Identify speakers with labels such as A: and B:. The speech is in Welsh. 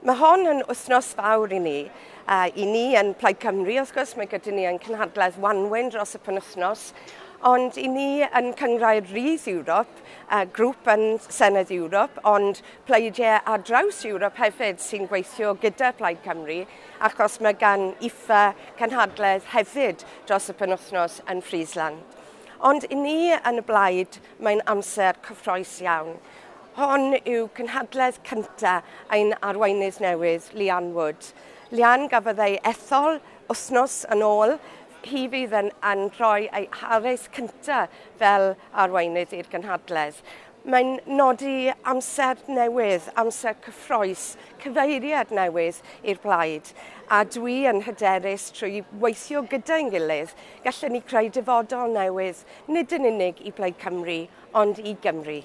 A: Mae hon yn wythnos fawr i ni. I ni yn Plaid Cymru, wrth gwrs, mae gyda ni yn cynhadledd Wanwyn dros y penwythnos, ond i ni yn Cynghrair Rydd Ewrop, grŵp yn Senedd Ewrop, ond pleidiau ar draws Ewrop hefyd sy'n gweithio gyda Plaid Cymru, achos mae gan IFA cynhadledd hefyd dros y penwythnos yn Friesland. Ond i ni yn y blaid, mae'n amser cyffrous iawn. Hon yw cynhadledd cyntaf ein arweinydd newydd, Leanne Wood. Leanne gafodd ei ethol wythnos yn ôl. Hi fydd yn, yn rhoi ei hares cyntaf fel arweinydd i'r gynhadledd. Mae'n nodi amser newydd, amser cyffrous, cyfeiriad newydd i'r blaid. A dwi yn hyderus trwy weithio gyda'n gilydd, gallwn ni creu dyfodol newydd, nid yn unig i Blaid Cymru, ond i Gymru.